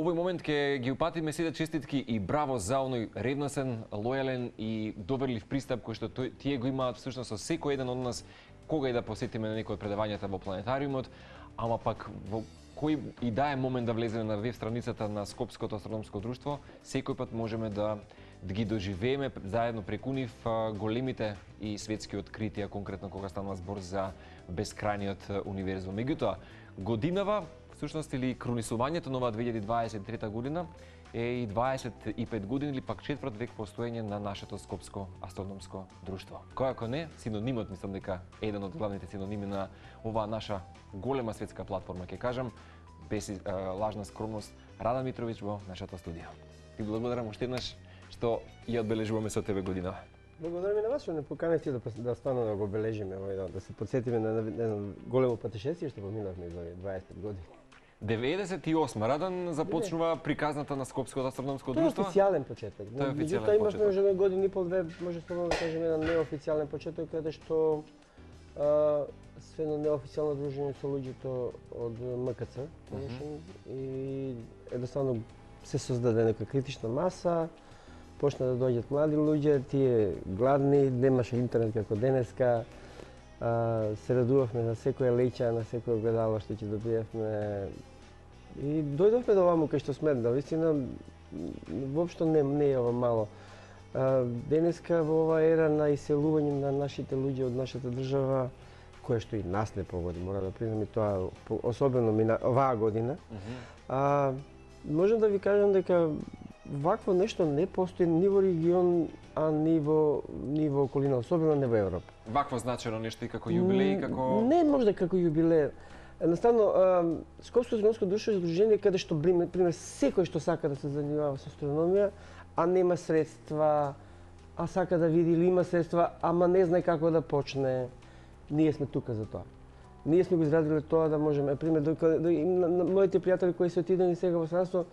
овој момент ќе ги упатиме сите честитки и браво за оној ревносен, лојален и доверлив пристап кој што тие го имаат всушност со секој еден од нас кога и да посетиме на некој од предавањата во планетариумот, ама пак во кој и да е момент да влеземе на веб страницата на Скопското астрономско друштво, секој пат можеме да ги доживееме заедно преку нив големите и светски откритија, конкретно кога станува збор за бескрајниот универзум. Меѓутоа, годинава, всушност или крунисувањето на оваа 2023 година е и 25 години или пак четврт век постоење на нашето Скопско астрономско друштво. Кој ако не, синонимот, мислам дека еден од главните синоними на оваа наша голема светска платформа, ќе кажам, без лажна скромност, Рада Митровиќ во нашето студио. Ти благодарам уште еднаш што ја одбележуваме со тебе година. Благодарам и на вас што не поканете да стану да го обележиме, да се потсетиме на големо патешествие што поминавме за 25 години. 98 Радан започнува приказната на Скопското астрономско друштво. Тоа е официјален почеток. Тоа е официјален почеток. Имавме уже години и пол две, може слободно да кажеме, еден неофицијален почеток каде што се едно неофицијално дружење со луѓето од МКЦ, и едноставно се создаде нека критична маса, почна да доаѓаат млади луѓе, тие гладни, немаше интернет како денеска, се радувавме на секоја леќа, на секој огледало што ќе добиевме. И дојдовме до оваму кај што сме, да вистина воопшто не е ова мало. Денеска во оваа ера на иселување на нашите луѓе од нашата држава, кое што и нас не погоди, мора да признам и тоа, особено оваа година, можам да ви кажам дека вакво нешто не постои ни во регион, а ни во околина, особено не во Европа. Вакво значено нешто и како јубилеј, како... Не може да како јубилеј. Едноставно, Скопско астрономско друштво е здружение каде што, пример, секој што сака да се занимава со астрономија, а нема средства, а сака да види или има средства, ама не знае како да почне, ние сме тука за тоа. Ние сме го изградиле тоа да можеме, пример, моите пријатели кои се отидени сега во странство,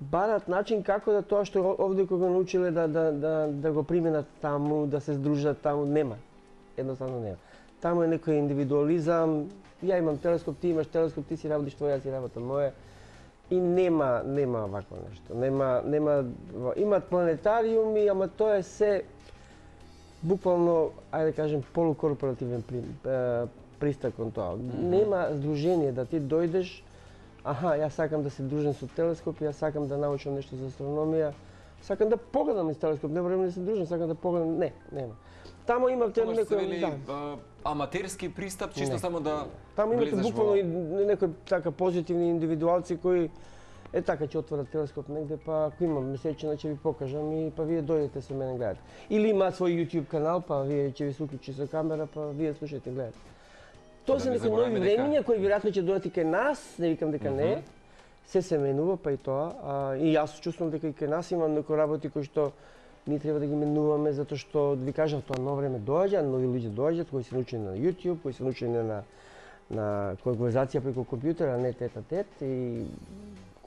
барат начин како да тоа што овде кога го научиле да го применат таму, да се здружат таму, нема. Едноставно нема. Таму е некој индивидуализам, ја имам телескоп, ти имаш телескоп, ти си работиш твоја, си работам моја. И нема вакво нешто. Имаат планетариуми, ама тоа е се буквално, ајде да кажем, полукорпоративен пристап кон тоа. Нема здружение да ти дојдеш, јас сакам да се дружам со телескоп, јас сакам да научам нешто за астрономија, сакам да погледам из телескоп, не време да се дружам, сакам да погледам, нема. Таму има некој аматерски пристап, чисто само да таму имате буквално некои така позитивни индивидуалци кои така ќе отворат телескоп негде, па ако имам месечина ќе ви покажам и па вие дојдете со мене гледате. Или има свој YouTube канал, па вие ќе ви се уклучи со камера, па вие слушајте, гледате. Тоа се некои нови времиња кои веројатно ќе дојдат и кај нас, не викам дека не. Се менува, па и тоа. И јас чувствувам дека и кај нас имам некои работи кои што ние треба да ги менуваме, затоа што, ви кажав, тоа ново време доаѓа, нови луѓе доаѓаат, кои се научени на YouTube, кои се научени на конверзација преку компјутер, а не тет-а-тет, и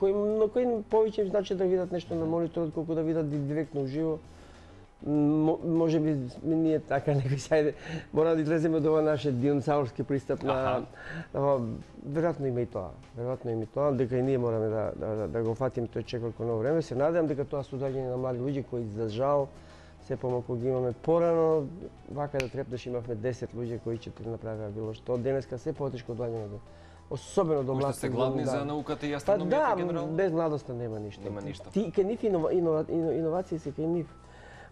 на кои повеќе им значи да видат нешто на мониторот, колку да видат директно уживо. Може би ние така некои сајде мора да излеземе од ова наше диносаурски пристап на веројатно има и тоа, дека и ние мораме да го фатиме тој чек како ново време. Се надевам дека тоа се доаѓање на млади луѓе кои за жал се помалку ги имаме порано, вака да трепнеш имавме 10 луѓе кои ќе направеа било што. Денеска се потешко доаѓање особено до млади. Кои се гладни за науката и астрономијата генерално? Без младоста нема ништо. Нема ништо. Ти кај нив иновации се кај нив.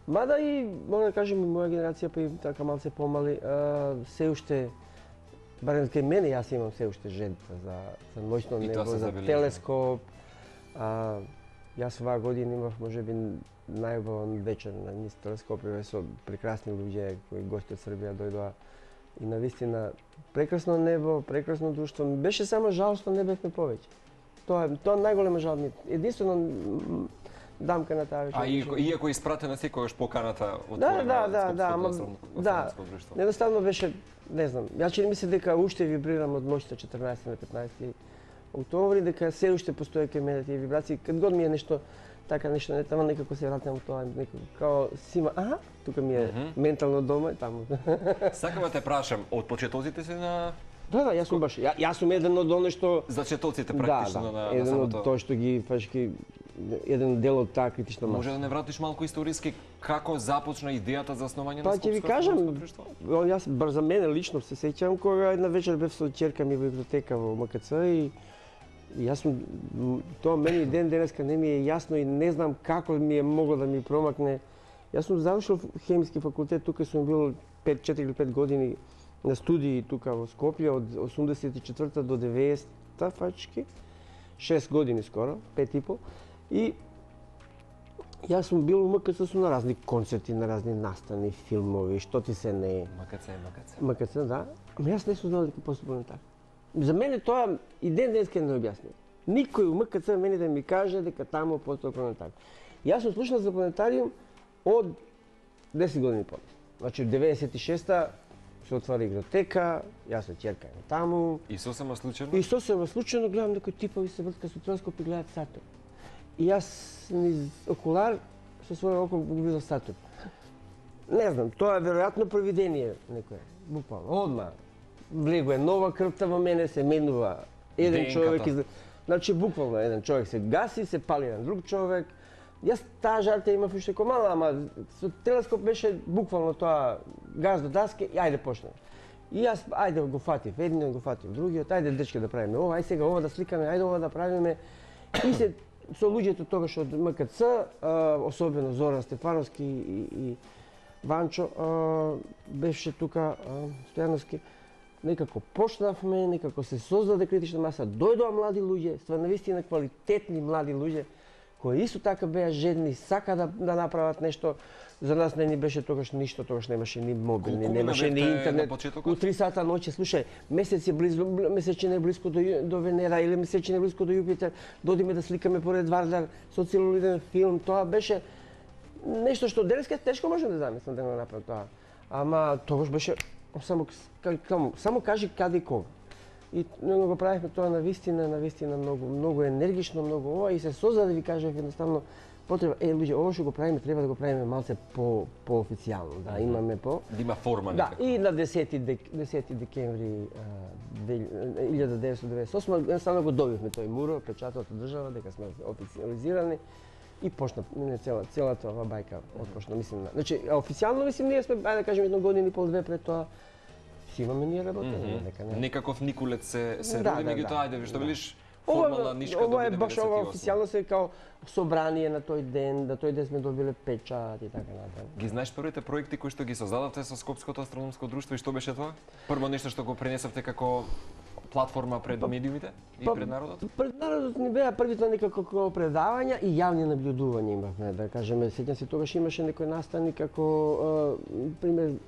Мада и, мога да кажем, и моја генерација, па и така малце помали, се уште, барем кај мене, јас имам се уште жедба за ноќно небо, за телескоп. Јас оваа година имав, може би, најубавен вечер на низ телескопи со прекрасни луѓе кои гости од Србија дојдоа. И навистина, прекрасно небо, прекрасно друштво. Беше само жал што не бевме повеќе. Тоа најголема жал ми. Единствено дамка на таа вечер. Иако испратена секогаш поканата од да, недоставно беше, не знам, јас чини ми се дека уште вибрирам од ноќта 14 на 15 октомври, дека се уште постои кај мене тие вибрации. Кад год ми е нешто така нешто не тама, некако се вратам тоа, некако као сима, тука ми е ментално дома и таму. Сакам да те прашам, од почетоците си на Да, јас сум баш, јас сум еден од оне што зачетоците практично на еден од самото. тоа што ги фашки еден дел од таа критична маса. Може да не вратиш малку историски како започна идејата за основање на Па ќе ви кажам, јас бар за мене лично се сеќавам кога една вечер бев со ќерка ми во библиотека во МКЦ и јас сум тоа мене и ден денеска не ми е јасно и не знам како ми е могло да ми промакне. Јас сум завршил хемиски факултет, тука сум бил 4 или 5 години на студии тука во Скопје од 84 до 90-та фачки. 6 години скоро, 5 и пол. И јас сум бил у МКЦ сум на разни концерти, на разни настани, филмови, што ти се не е. МКЦ, да. Ама јас не сум знал дека постапувам така. За мене тоа и ден денеска не објаснува. Никој у МКЦ мене да ми каже дека таму постапувам така. Јас сум слушнал за планетариум од 10 години по. Значи 96-та се отвара игротека, јас со ќерка таму. И сосема случајно? И сосема случајно гледам дека типови се вртка со телескоп и гледаат Сатурн. И јас низ окулар со своје око го видов Сатурн. Не знам, тоа е веројатно провидение некое, буквално. Одма влегува нова крвта во мене, се менува еден човек. Значи буквално еден човек се гаси, се пали на друг човек. Јас таа жарта имав уште ко мала, ама со телескоп беше буквално тоа газ до даске и ајде почнеме. И јас ајде го фатив едниот, го фатив другиот, ајде дечки да правиме ова, ајде сега ова да сликаме, ајде ова да правиме. И се со луѓето тогаш од МКЦ, особено Зоран Стефановски и Ванчо, беше тука Стојановски, некако почнавме, некако се создаде критична маса, дојдоа млади луѓе, стварно навистина квалитетни млади луѓе, кои исто така беа жедни, сака да направат нешто. За нас не ни беше тогаш ништо, тогаш немаше ни мобилни, немаше ни интернет. У 3 сата ноќе, слушај, месечина е близко до Венера или месечина е близко до Јупитер, додиме да сликаме поред Вардар со целулиден филм, тоа беше нешто што денеска тешко можам да замислам да го направам тоа. Ама тогаш беше само кажи каде и кога. И го правихме тоа навистина многу енергично, многу ова и се создаде, ви кажав едноставно потреба, луѓе, ова што го правиме треба да го правиме малце по-официјално, да имаме да има форма некако. Да, и на 10 декември 1998 едноставно го добивме тој муро, печатот од држава дека сме официализирани и почна целата ова бајка отпочна, мислим. Значи, официјално мислим ние сме, ајде да кажеме, 1 година и пол, 2 пред тоа имаме ние работење, дека не. Некаков Никулец се роди, меѓутоа ајде што велиш формална нишка ова е баш ова официјално се као собрание на тој ден, да тој ден сме добиле печат и така натаму. Ги знаеш првите проекти кои што ги создадовте со Скопското астрономско друштво и што беше тоа? Прво нешто што го пренесовте како платформа пред медиумите и пред народот? Пред народот ни беа првите некако предавања и јавни наблюдувања имавме, да кажеме. Сеќам се тогаш имаше некој настани како пример.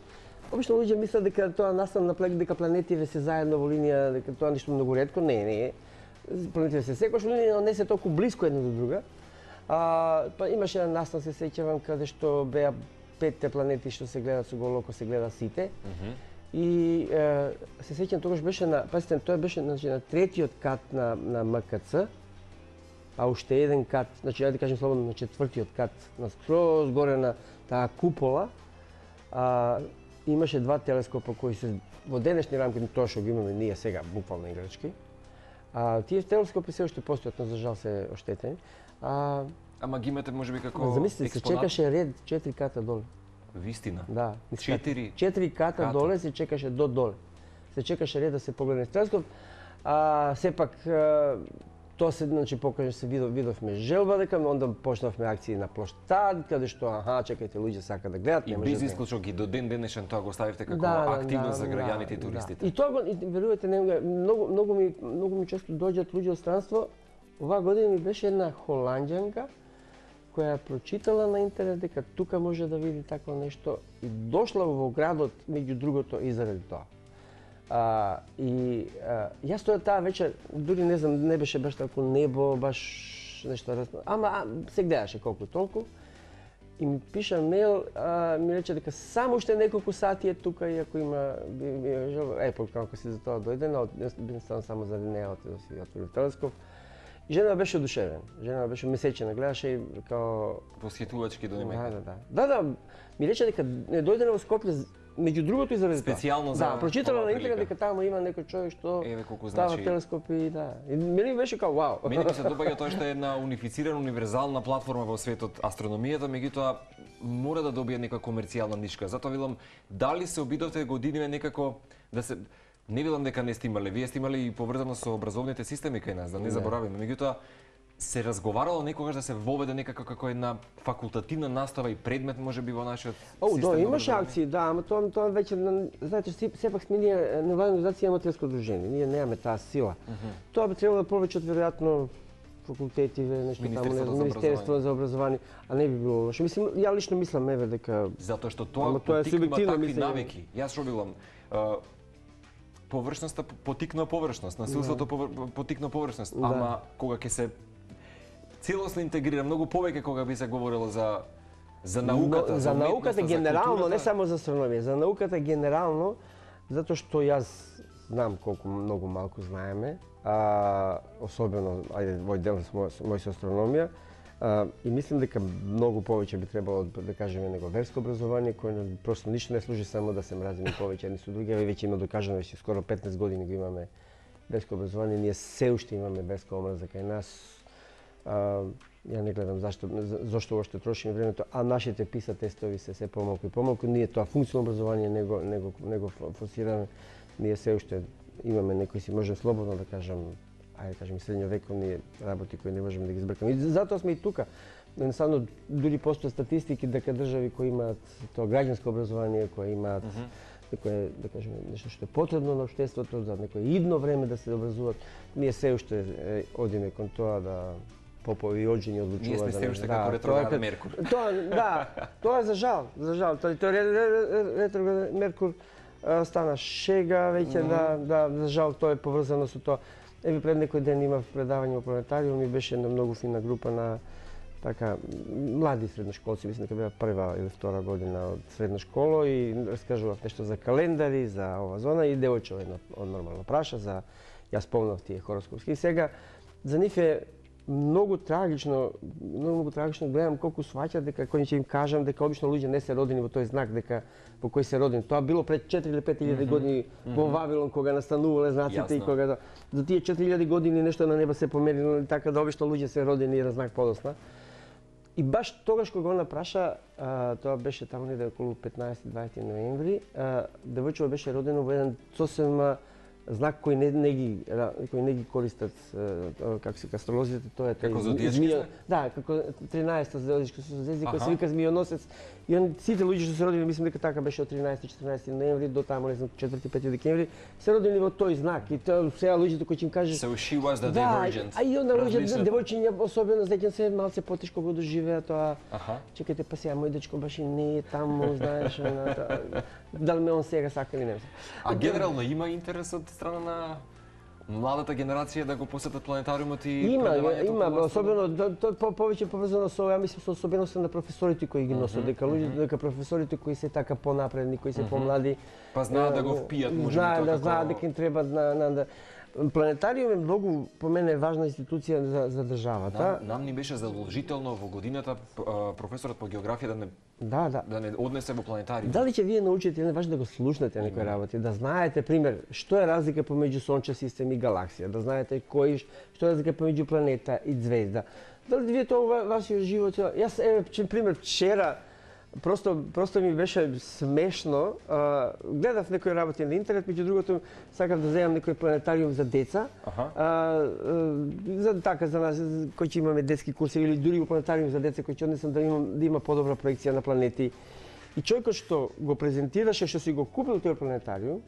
Обично луѓе мислат дека тоа настан на дека планетиве се заедно во линија, дека тоа ништо многу ретко, не. Планетиве се секојаш во линија, но не се толку блиско една до друга. Па имаше еден настан, се сеќавам, каде што беа 5 планети што се гледат со голо око, се гледа сите. И се сеќам тогаш беше пазите, тоа беше на 3-тиот кат на МКЦ, а уште еден кат, значи да кажем слободно на 4-тиот кат, на скроз горе на таа купола. Имаше 2 телескопа кои се во денешни рамки, тоа што ги имаме ние сега, буквално играчки. Тие телескопи се уште постојат, но за жал се оштетени. Ама ги имате можеби како замисли, се чекаше ред 4 ката доле. Вистина? Да. 4 ката доле се чекаше до доле. Се чекаше ред да се погледне телескоп. Сепак тоа се, значи, покаже се видовме желба дека, онда почнавме акции на плоштад, каде што, чекајте, луѓе сака да гледат. И без исклучок и до ден денешен тоа го ставивте како активност за граѓаните и туристите. И тоа, верувате, многу ми често доаѓаат луѓе од странство. Оваа година ми беше една холанѓанка која прочитала на интернет дека тука може да види такво нешто и дошла во градот меѓу другото и заради тоа. Јас таа вечер, дури не знам, не беше баш тако небо, баш нешто разно, ама се гледаше колку толку. И ми пиша мејл, ми рече дека само уште неколку сати е тука и ако има желба, како си за тоа дојде, но би станал само заради неа да си отвори телескоп. И жена беше одушевена. Жена беше месечена, гледаше и као восхитувачки до немека. Да. Ми рече дека не дојде во Скопје меѓу другото и заради тоа. Специјално за прочитала оваа на интернет прилика. дека таму има некој човек што Еве колку става значи. телескопи и да. И мене беше као вау. Мене ми се допаѓа тоа што е една унифицирана, универзална платформа во светот астрономијата, меѓутоа мора да добие некоја комерцијална нишка. Затоа велам, дали се обидовте годиниве некако да се не велам дека не сте имале, вие сте имали и поврзано со образовните системи кај нас, да не заборавиме. Меѓутоа се разговарало некогаш да се воведе некако како една факултативна настава и предмет можеби во нашиот систем. Да, имаше акции, да, ама тоа веќе знаете, сепак сме ние невладина организација аматерско дружение. Ние немаме таа сила. Тоа би требало да повеќе веројатно факултетиве, нешто таму, Министерство за образование, а не би било лошо. Мислам, ја лично мислам еве дека затоа што тоа е субјективно такви мислење. навики. Јас што велам, површноста потикна површност, насилството потикна површност, ама кога ќе се целосно интегрира многу повеќе кога би се говорело за науката, за науката генерално, не културата. само за астрономија, за науката генерално, затоа што јас знам колку многу малку знаеме, особено во дел мој со астрономија, и мислим дека многу повеќе би требало да кажеме него верско образование кое просто ништо не служи само да се мразиме повеќе едни со други, веќе има докажано веќе скоро 15 години го имаме верско образование, ние се уште имаме верска омраза кај нас. Ја не гледам зашто уште трошиме времето, а нашите PISA тестови се помалку и помалку. Ние тоа функционално образование него форсираме. Ние се уште имаме некои си можем слободно да кажам, ајде кажем и средњовековни работи кои не можеме да ги збркаме. И затоа сме и тука. Едноставно дури постојат статистики дека држави кои имаат тоа граѓанско образование, кои имаат некое, да кажеме, нешто што е потребно на општеството за некое идно време да се образуваат, ние се уште одиме кон тоа да попови и оџени одлучуваат. Ние сме се уште како ретрограден Меркур. Тоа е за жал. Тој ретрограден Меркур стана шега веќе, за жал тоа е поврзано со тоа. Еве пред некој ден имав предавање во планетариум и беше една многу фина група на така млади средношколци, мислам дека беа прва или втора година од средна школа и раскажував нешто за календари, за ова зона и девојче едно нормално праша за јас помнав тие хороскопски. Сега за нив е многу трагично гледам колку сваќаат дека кој ќе им кажам дека обично луѓе не се родени во тој знак дека по кој се родени. Тоа било пред 4 или 5000 години во Вавилон кога настанувале знаците и кога за тие 4000 години нешто на неба се померило така да обично луѓе се родени и на знак подосна. И баш тогаш кога го напраша, тоа беше таму неде околу 15-20 ноември, девојчето беше родено во еден сосема знак кој не ги користат како се астролозите, тоа е како зодијачки знак? Да, како 13-то зодијачко созвездие кој се вика Змијоносец. И сите луѓе што се родени, мислам дека така беше од 13-14 ноември до таму не знам 4-5 декември, се родени во тој знак. И тоа сега луѓето кои ќе им кажеш So she was the divergent. А и онда луѓето девојчиња особено знаеќе се малце потешко го доживеа тоа. Чекајте па сега мој дечко баш и не е таму, знаеш, дали ме он сега сака или не. А генерално има интерес од страна на младата генерација да го посетат планетариумот и има, особено повеќе поврзано со, ја мислам со особеноста на професорите кои ги носат, дека професорите кои се така понапредни, кои се помлади, па знаат да го впијат, можеби тоа како знаат дека им треба Планетариум е многу, по мене, важна институција за државата. Нам ни беше задолжително во годината професорот по географија да не однесе во планетариум. Дали ќе вие научите, не важно да го слушнете некои работи, да знаете, пример, што е разлика помеѓу сончев систем и галаксија, да знаете што е разлика помеѓу планета и звезда. Дали вие тоа во вашиот живот? Јас, пример, вчера Просто ми беше смешно. Гледав некои работи на интернет, меѓу другото сакав да земам некој планетариум за деца. За нас кои ќе имаме детски курси или дури во планетариум за деца кои ќе однесам да има подобра проекција на планети. И човекот што го презентираше, што си го купил тој планетариум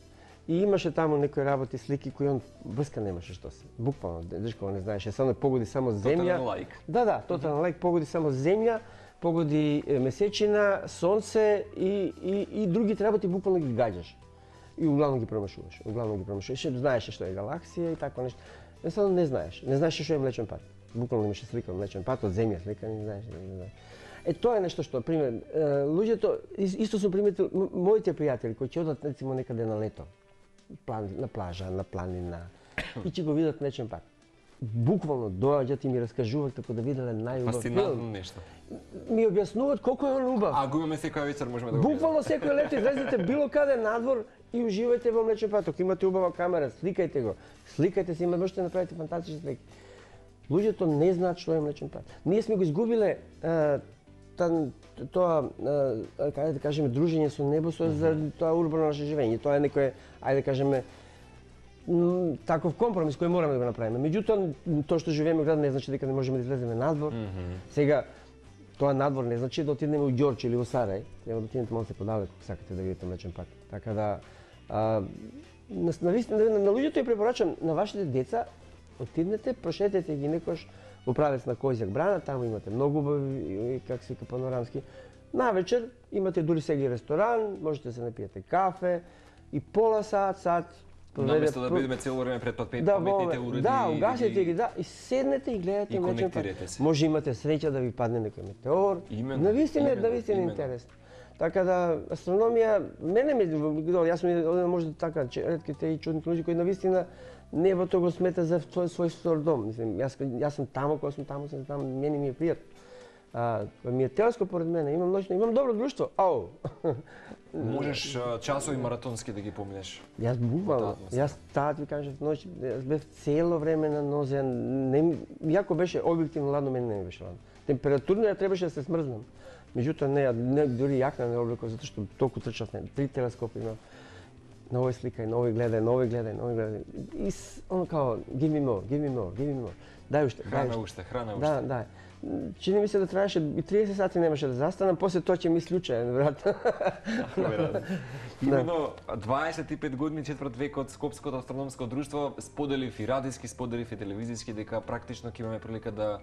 и имаше таму некои работи, слики кои он врска немаше што се. Буквално, дечко не знаеше, само погоди само земја. Тотален лаик. Да, тотален лаик, погоди само земја, погоди месечина, сонце и другите работи буквално ги гаѓаш. И углавно ги промашуваш. Знаеш што е галаксија и тако нешто. Едноставно не знаеш. Не знаеш што е Млечен пат. Буквално имаше слика Млечен пат од земја, слика не знаеш. Тоа е нешто што, пример, луѓето исто сум приметил моите пријатели кои ќе одат рецимо некаде на лето, на плажа, на планина и ќе го видат Млечен пат. буквално доаѓаат и ми раскажуваат како да виделе најубав Фасцинантно филм. нешто. Ми објаснуваат колку е он убав. А го имаме секоја вечер, можеме да го Буквално секој лето излезете било каде надвор и уживајте во Млечен пат. Ако имате убава камера, сликајте го. Сликајте се, можете да направите фантастични слики. Луѓето не знаат што е Млечен пат. Ние сме го изгубиле тоа, каде да кажеме, дружење со небо за тоа урбано наше живење. Тоа е некој, ајде да кажеме, таков компромис кој мораме да го направиме. Меѓутоа, тоа што живееме во град не значи дека не можеме да излеземе надвор. Сега, тоа надвор не значи да отидеме во Ѓорче или во Сарај. Треба да отидете малку подалеку ако сакате да видите Млечен пат. Така да, на луѓето ја препорачам, на вашите деца, отиднете, прошетете ги некош во правец на Којзак брана, таму имате многу убави, как се вика, панорамски. Навечер имате дури сега и ресторан, можете да се напиете кафе и пола сат, наместо да бидеме цело време пред паметните уреди. Да, угасете ги, и седнете и гледате Млечен пат. Може имате среќа да ви падне некој метеор. Навистина интересно. Така да, астрономија, мене ми јас сум може така ретките и чудните луѓе кои навистина небото го смета за свој втор дом. Мислим, јас сум таму, кога сум таму, мене ми е пријатно. Ми е телескоп поред мене, имам добро друштво. Ау. Можеш часови маратонски да ги поминеш. Јас буквално, јас таа ти кажав ноќ, јас бев цело време на нозе, иако беше објективно ладно, мене не ми беше ладно. Температурно ја требаше да се смрзнам. Меѓутоа не дури јакна не облеков затоа што толку трчав, 3 телескопи имам. На овој сликај, на овој гледај. И он као give me more. Дај уште. Храна уште. Да. Чини ми се да траеше и 30 сати немаше да застанам, после тоа ќе ми случај, веројатно. Именно 25 години, четврт век од Скопското астрономско друштво, споделив и радиски, споделив и телевизиски, дека практично ќе имаме прилика да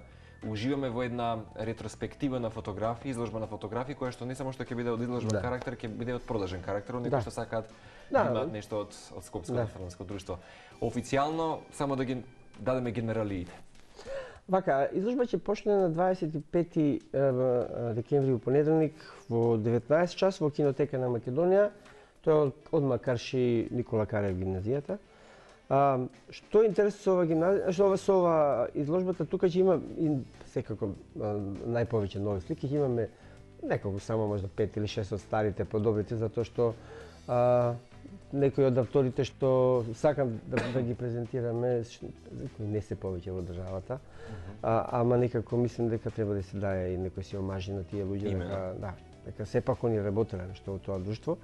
уживаме во една ретроспектива на фотографии, изложба на фотографии, која што не само што ќе биде од изложбен карактер, ќе биде од продажен карактер, од некои што сакаат да имаат нешто од Скопското астрономско друштво. Официјално, само да ги дадеме генералиите. Вака, изложба ќе почне на 25 декември во понеделник во 19 часот во Кинотека на Македонија. Тоа е од Макарши Никола Карев гимназијата. Што е интересно со ова гимназија, со ова изложбата, тука ќе има и секако најповеќе нови слики, ќе имаме неколку само можда 5 или 6 од старите подобрите, затоа што некои од авторите што сакам да ги презентираме, кои не се повеќе во државата, ама некако мислим дека треба да се даде и некој си омажи на тие луѓе, дека сепак они работеле нешто во тоа друштво.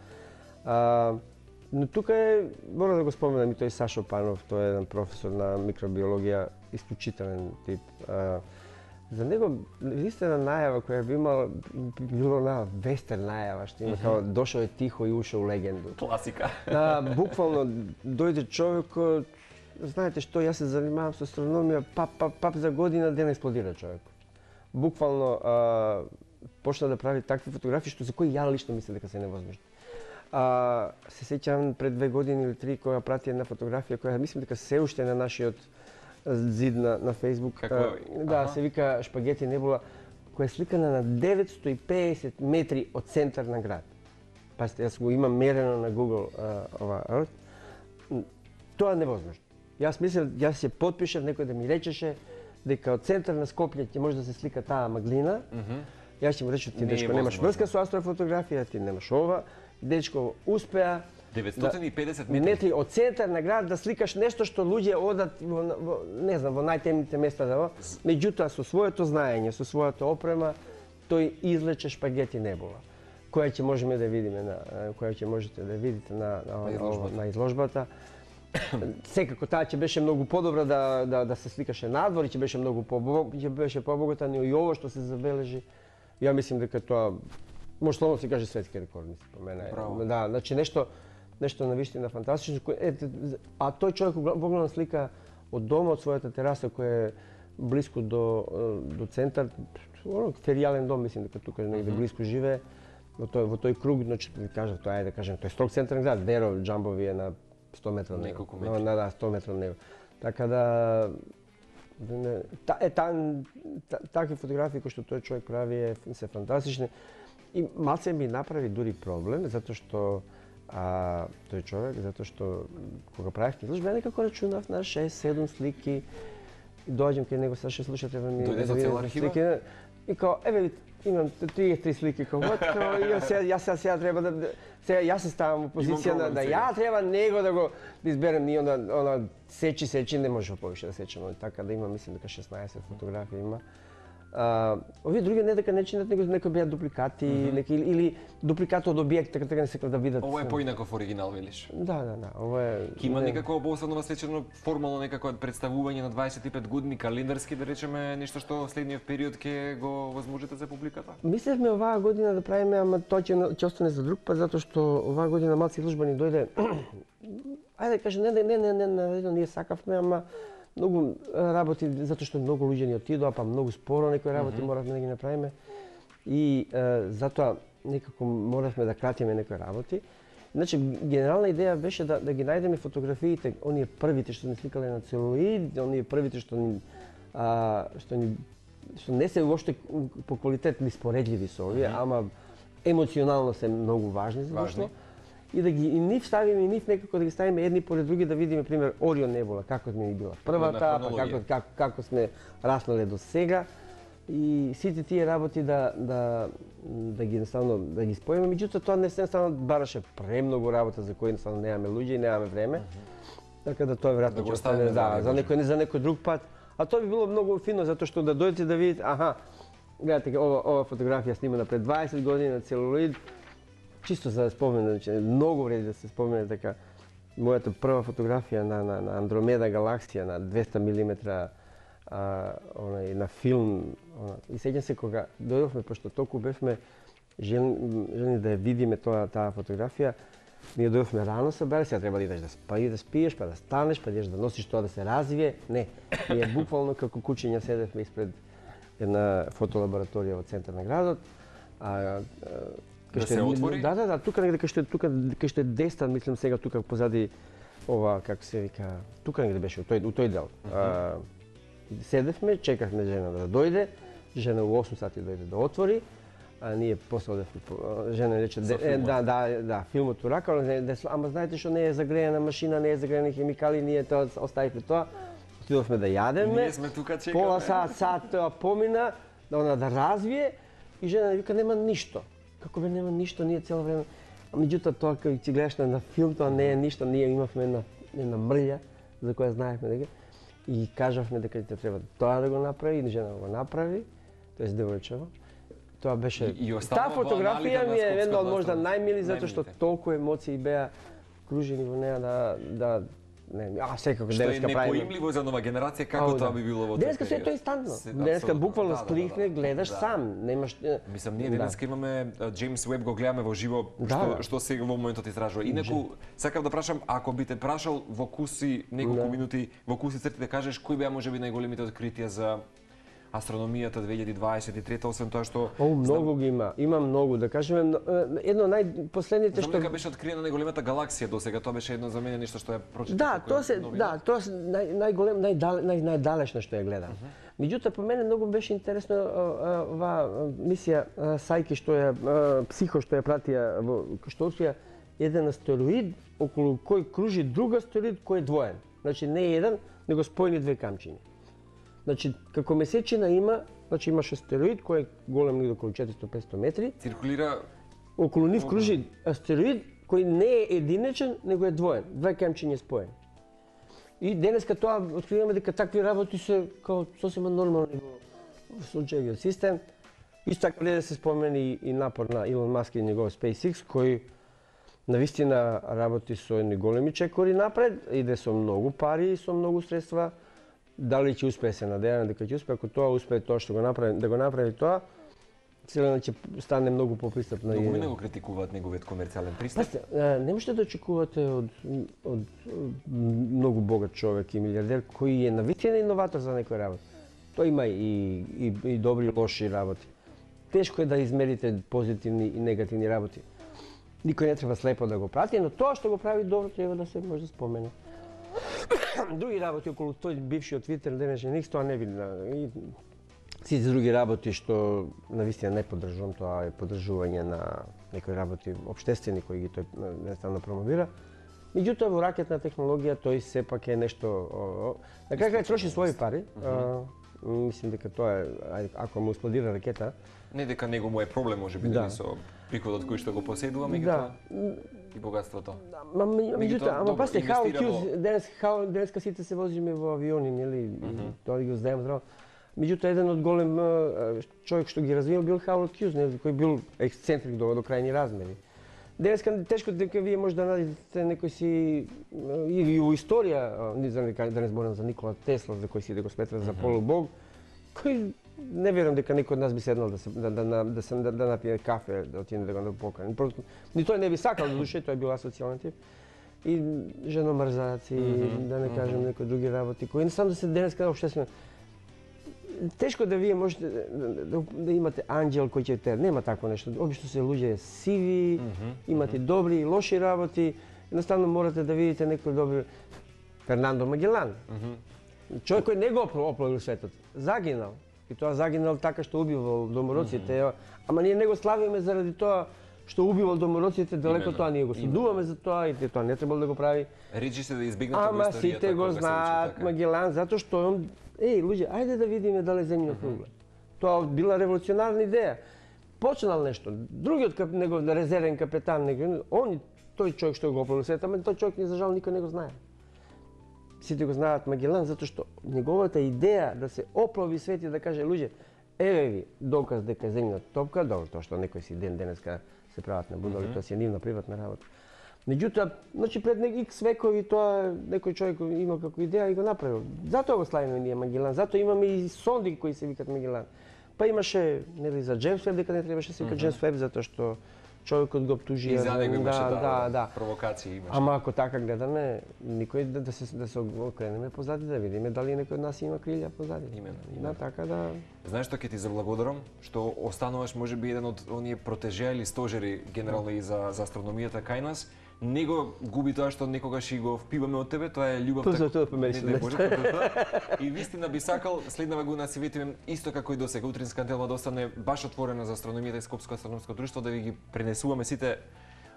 Но тука мора да го споменам и тој Сашо Панов, тој е еден професор на микробиологија, исклучителен тип. За него единствена најава која би имала, било на вестерн најава, што има као дошол е тихо и ушол легенду. Класика. Буквално дојде човек, знаете што, јас се занимавам со астрономија, пап за година ден експлодира човек. Буквално почна да прави такви фотографии што за кои ја лично мислам дека се невозможни. Се сеќавам пред 2 години или 3 кога прати една фотографија која мислам дека се уште на нашиот зид на Facebook. Да, се вика Шпагети небула, која е сликана на 950 метри од центар на град. Пазите, јас го имам мерено на Google ова. Тоа е невозможно. Јас мислам, јас се потпишав некој да ми речеше дека од центар на Скопје ќе може да се слика таа маглина. Јас ќе му речам, ти дечко немаш врска со астрофотографија, ти немаш ова. Дечко успеа 950 метри од центар на град да сликаш нешто што луѓе одат не знам во најтемните места да. Меѓутоа со своето знаење, со својата опрема, тој излече Шпагети небула, која ќе можеме да видиме која ќе можете да видите на изложбата. Секако таа ќе беше многу подобра да се сликаше надвор и ќе беше многу побогата, но и ово што се забележи, ја мислим дека тоа може словно се каже светски рекорд, по мене. Да, значи нешто навистина фантастично. А тој човек погледна слика од дома, од својата тераса која е близко до центар, феријален дом, мислим дека тука негде близко живее, во тој круг, значи кажав, тоа е да кажем, тој строг центарен град, Деро, Џамбови е на 100 метра од него. Да, 100 метра од него. Така да такви фотографии кои што тој човек прави се фантастични. И малце ми направи дури проблем, затоа што тој човек, затоа што кога правев изложба, некако рачунав на 6-7 слики и доаѓам кај него, Саше, слушате, треба ми дојде со цела архива? слики. И као, еве, имам 33 слики као вот, јас сега треба да сега јас се ставам во позиција да ја треба него да изберем, ние она сечи не може повише да сечеме, така да има, мислам дека 16 фотографии има. Овие други не дека не чинат, него некои беа дупликати, или дупликати од објект, така не сакам да видат. Ова е поинаков оригинал, велиш? Да, ова е... Има некако обосебно свечено формално некако представување на 25 години календарски, да речеме, нешто што следниот период ќе го возможите за публиката? Мислевме оваа година да правиме, ама тоа ќе остане за друг пат, затоа што оваа година малци изложба ни дојде. Ајде да кажем, не, ние сакавме, ама многу работи, затоа што многу луѓе ни отидоа, па многу споро некои работи моравме да ги направиме. И затоа некако моравме да кратиме некои работи. Значи, генерална идеја беше да ги најдеме фотографиите, оние првите што ни сликале на целулоид, оние првите што не се уопште по квалитет неспоредливи со овие, ама емоционално се многу важни завршно. И да ги нив ставиме и нив некако да ги ставиме едни поред други, да видиме пример Орион небула, како ми била првата, па како сме раснале до сега. И сите тие работи да ги едноставно да ги споиме, меѓутоа тоа не се бараше премногу работа за кои едноставно немаме луѓе и немаме време. Така да тоа веројатно ќе остане за некој друг пат. А тоа би било многу фино затоа што да дојдете да видите, гледате ова фотографија снимана пред 20 години на целулоид. Чисто за спомен, значи многу вреди да се спомене така мојата прва фотографија на Андромеда галаксија на 200 мм на филм. И сеќам се кога дојдовме, пошто толку бевме жени да ја видиме таа фотографија, ние дојдовме рано събрали, сега треба да идеш да спиеш, па да станеш, па идеш да носиш тоа да се развие. Не, ние буквално како кучиња седевме испред една фотолабораторија во центар на градот. Да се отвори? Да, тука негде кај што е Дестан, мислам сега тука позади ова, како се вика, тука негде беше, у тој дел. Седевме, чекавме жена да дојде, жена у 8 сати дојде да отвори, а ние после одевме, жена рече, да, филмот урака, ама знаете што не е загреена машина, не е загреени хемикали, ние тоа оставивме тоа, отидовме да јадеме, ние сме тука чекаме. Пола сат тоа помина, да развие, и жена вика, нема ништо. Како бе нема ништо, ние цело време. Меѓутоа тоа кога ќе гледаш на филм, тоа не е ништо, ние имавме една мрља за која знаевме дека и кажавме дека ќе треба тоа да го направи, и жена го направи, тоа е девојчево. Тоа беше таа фотографија ми е една од можда најмили затоа што толку емоции беа кружени во неа секако денеска правиме. Што е непоимливо за нова генерација, како тоа би било во тој период? Денеска се е тоа инстантно. Денеска буквално кликне, гледаш сам, немаш... Мислам, ние денеска имаме Джеймс Уеб, го гледаме во живо, што сега во моментот истражува. Инаку, сакав да прашам, ако би те прашал во куси неколку минути, во куси црти да кажеш, кои беа можеби најголемите откритија за астрономијата 2023, освен тоа што... Многу ги има. Има многу, да кажеме, едно најпоследните што... Знам дека беше откриена најголемата галаксија досега, тоа беше едно за мене нешто што ја прочитав. Тоа се најголем, најдалечна што ја гледам. Меѓутоа, по мене многу беше интересно оваа мисија Сајки што ја Психо што ја пратија што открија еден астероид околу кој кружи друг астероид кој е двоен. Значи не еден, него споени две камчиња. Значи, како месечина има, значи имаш астероид кој е голем негде околу 400-500 метри. Циркулира... Околу нив кружи астероид кој не е единечен, него е двоен. Две камчиња споени. И денеска тоа откриваме дека такви работи се као сосема нормални во сончевиот систем. Исто така да се спомени и напор на Илон Маск и негов SpaceX, кој навистина работи со едни големи чекори напред, иде со многу пари и со многу средства. Дали ќе успее, се надеваме дека ќе успее, ако тоа успее тоа што го направи, да го направи тоа, целено ќе стане многу попристапно. Многу не го критикуваат неговиот комерцијален пристап. Не можете да очекувате од многу богат човек и милиардер кој е навистина иноватор за некој работа. Тоа има и добри и лоши работи. Тешко е да измерите позитивни и негативни работи. Никој не треба слепо да го прати, но тоа што го прави добро треба да се може да спомене. Други работи околу тој бившиот Твитер, денешен X, тоа не видна. И сите други работи што навистина не поддржувам, тоа е поддржување на некои работи општествени кои ги тој едноставно промовира. Меѓутоа во ракетна технологија тој сепак е нешто на крај троши своји пари. Мислим дека тоа е ако му експлодира ракета. Не дека него му е проблем можеби дали со приходот кој што го поседува, меѓутоа и богатството. Меѓутоа, ама пасте, Howard Hughes, денеска сите се возиме во авиони, нели, тоа ги го знаеме здраво. Меѓутоа, еден од голем човек што ги развива бил Howard Hughes, кој бил ексцентрик до крајни размери. Денеска тешко дека вие може да најдете некој си и во историја, да не зборам за Никола Тесла, за кој си да го сметра за полубог, кој не верувам дека некој од нас би седнал да напие кафе, да отиде да го покани. Просто ни тој не би сакал, за душе, тој бил асоцијален тип. И женомрзаци, да не кажем некои други работи, кои само да се денеска општествено. Тешко да вие можете да имате анџел кој ќе те, нема такво нешто. Обично се луѓе сиви, имате добри и лоши работи. Едноставно морате да видите некој добри Фернандо Магелан. Човек кој не го оплавил светот, загинал. И тоа загинал така што убивал домороците. Ама ние не го славиме заради тоа што убивал домороците, далеко тоа ние го судуваме за тоа и тоа не требало да го прави. Речи се да избегнат во историјата. Ама сите го знаат Магелан затоа што он луѓе, ајде да видиме дали земјина кругла. Тоа била револуционарна идеја. Почнал нешто. Другиот негов резервен капетан, он тој човек што го оплавил светот, ама тој човек за жал никој не го знае. Сите го знаат Магелан затоа што неговата идеја да се оплави свет и да каже луѓе, еве ви доказ дека земјина топка, добро тоа што некој си денеска се прават на будали, тоа си е нивна приватна работа. Меѓутоа, значи пред X векови тоа некој човек имал како идеја и го направил. Затоа го славиме ние Магелан, затоа имаме и сонди кои се викат Магелан. Па имаше нели за Джеймс Веб дека не требаше се вика Джеймс Веб затоа што човекот го обтужија. И за него имаше провокации имаше. Ама ако така гледаме, никој да се окренеме позади да видиме дали некој од нас има крилја позади. Именно. Така да. Знаеш што ќе ти заблагодарам што остануваш можеби еден од оние протежеа или стожери генерално и за астрономијата кај нас. Не го губи тоа што некогаш и го впиваме од тебе, тоа е љубовта. И вистина би сакал следнава година си ветивам исто како и досега утринска антена да остане баш отворена за астрономијата и Скопско астрономско друштво да ви ги пренесуваме сите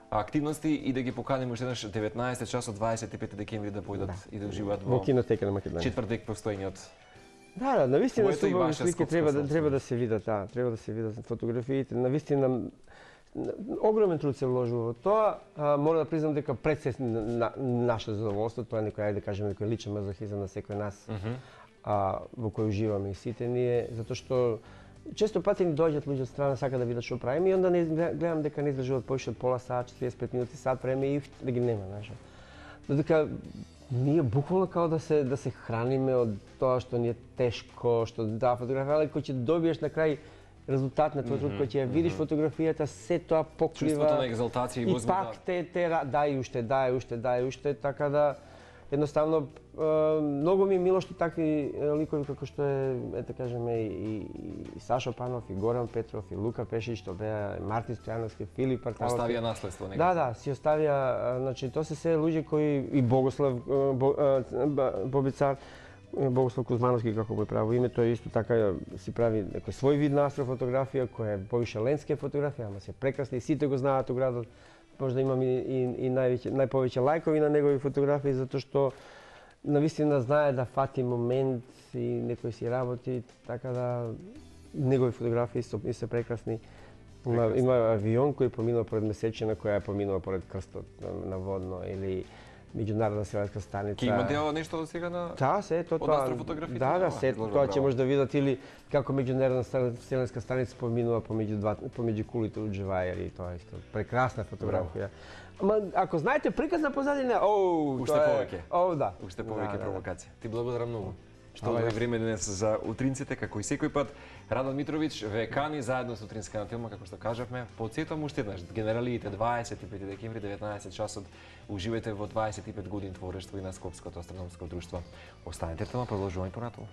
активности и да ги поканим уште еднаш 19 часот 25 декември да појдат и да уживаат во кинотека на Македонија. Четвртек постоењето. Да, навистина убави слики треба да се видат, треба да се видат фотографиите. Навистина огромен труд се вложува во тоа. Мора да признам дека пред се наше задоволство, тоа е некој, да кажеме, некој личен мазохизам на секој нас, во кој уживаме и сите ние, затоа што често пати ни доаѓаат луѓе од страна, сака да видат што правиме и онда не гледам дека не издржуваат повеќе од пола сат, 45 минути, сат време и да ги нема, знаеш. Додека ние буквално као да се храниме од тоа што ни е тешко, што фотографија, кој ќе добиеш на крај резултат на твојот труд, кој ќе ја видиш фотографијата, се тоа покрива. Чувството на екзалтација и возбуда. И пак дај уште, така да едноставно многу ми е мило што такви ликови како што е да кажеме и Сашо Панов, и Горан Петров, и Лука Пешич, што беа Мартин Стојановски, Филип Парталов. Оставија наследство некако. Да, си оставија, значи тоа се се луѓе кои и Богослав Бобицар, Богослав Кузмановски, како му е право име, тој исто така си прави некој свој вид на астрофотографија, која е повише лендскеп фотографија, ама се прекрасни и сите го знаат у градот. Може да имам и најповеќе лајкови на негови фотографии, затоа што навистина знае да фати момент и некој си работи, така да негови фотографии се прекрасни. Има авион кој поминува поред месечина, која поминува поред крстот на водно или меѓународна селенска станица. Ке има дел нешто од сега на од астрофотографија? Да, тоа ќе може да видат или како меѓународна селенска станица поминува помеѓу кулите од Живајер и тоа исто. Прекрасна фотографија. Ама ако знаете приказна позадина, уште повеќе. Да. Уште повеќе провокација. Ти благодарам многу. Што одвои време денес за утринците, како и секој пат. Радон Митровиќ ве кани заедно со утринска на филма, како што кажавме. Потсетувам уште еднаш, генералиите 25 декември 19 часот. Уживајте во 25 години творештво и на Скопското астрономско друштво. Останете тама, продолжување понатаму.